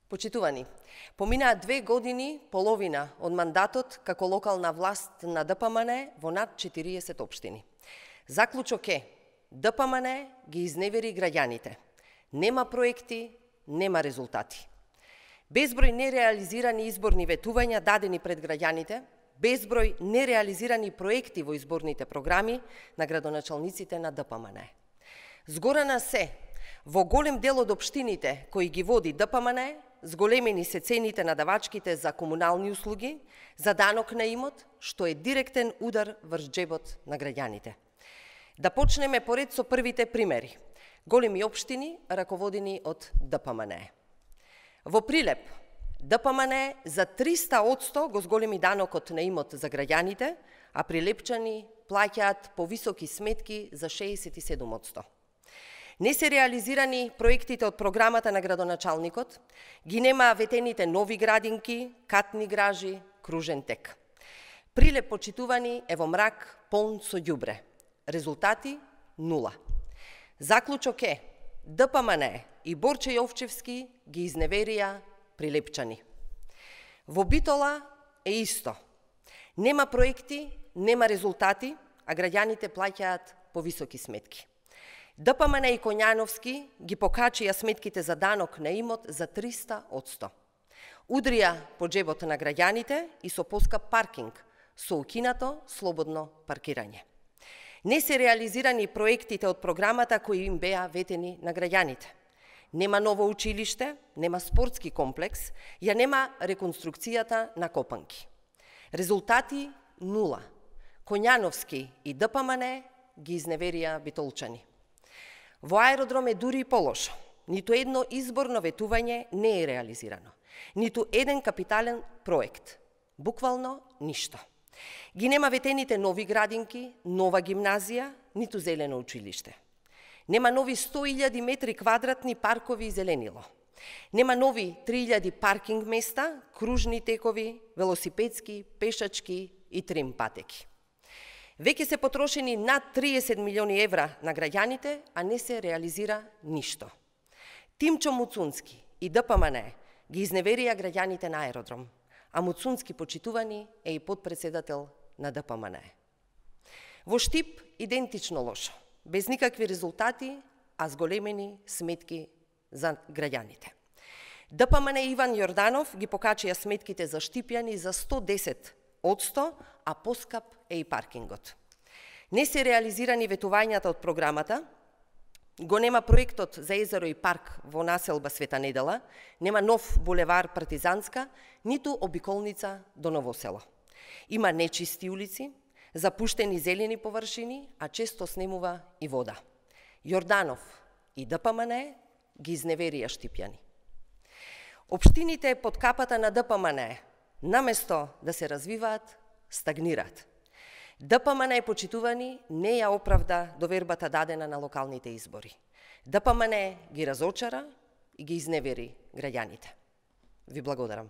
Почитувани, поминаа 2 години, половина од мандатот како локална власт на ДПМН во над 40 општини. Заклучок е, ДПМН ги изневери граѓаните. Нема проекти, нема резултати. Безброј нереализирани изборни ветувања дадени пред граѓаните, безброј нереализирани проекти во изборните програми на градоначалниците на ДПМН. Згорана се, во голем дел од општините кои ги води ДПМН, зголемени се цените на давачките за комунални услуги, за данок на имот, што е директен удар врз џебот на граѓаните. Да почнеме поред со првите примери. Големи општини, раководени од ДПМН. Во Прилеп, ДПМН за 300% го зголеми данокот на имот за граѓаните, а прилепчани плаќаат повисоки сметки за 67%. Не се реализирани проектите од програмата на градоначалникот, ги нема ветените нови градинки, катни гражи, кружен тек. Прилеп, почитувани, е во мрак полн со ѓубре. Резултати – 0. Заклучок е, ДПМН и Борче Јовчевски ги изневерија прилепчани. Во Битола е исто. Нема проекти, нема резултати, а граѓаните плаќаат повисоки сметки. ДПМН и Коњановски ги покачија сметките за данок на имот за 300%. Удрија по џебот на граѓаните и со поскап паркинг, со укинато слободно паркирање. Не се реализирани проектите од програмата кои им беа ветени на граѓаните. Нема ново училиште, нема спортски комплекс, ја нема реконструкцијата на Копанки. Резултати – 0. Коњановски и ДПМН ги изневерија битолчани. Во аеродром е дури и полошо. Ниту едно изборно ветување не е реализирано. Ниту еден капитален проект. Буквално ништо. Ги нема ветените нови градинки, нова гимназија, ниту зелено училиште. Нема нови 100.000 метри квадратни паркови и зеленило. Нема нови 3.000 паркинг места, кружни текови, велосипедски, пешачки и трим патеки. Веќе се потрошени над 30 милиони евра на граѓаните, а не се реализира ништо. Тимчо Муцунски и ДПМН ги изневерија граѓаните на аеродром, а Муцунски, почитувани, е и подпредседател на ДПМН. Во Штип идентично лошо, без никакви резултати, а зголемени сметки за граѓаните. ДПМН Иван Јорданов ги покачија сметките за штипјани за 110%, а поскап е и паркингот. Не се реализирани ветувањата од програмата, го нема проектот за езеро и парк во населба Света Недела, нема нов булевар Партизанска, ниту обиколница до Ново село. Има нечисти улици, запуштени зелени површини, а често снемува и вода. Јорданов и ДПМН ги изневерија штипјани. Општините под капата на ДПМН, наместо да се развиваат, стагнираат. ДПМН, почитувани, не ја оправда довербата дадена на локалните избори. ДПМН ги разочара и ги изневери граѓаните. Ви благодарам.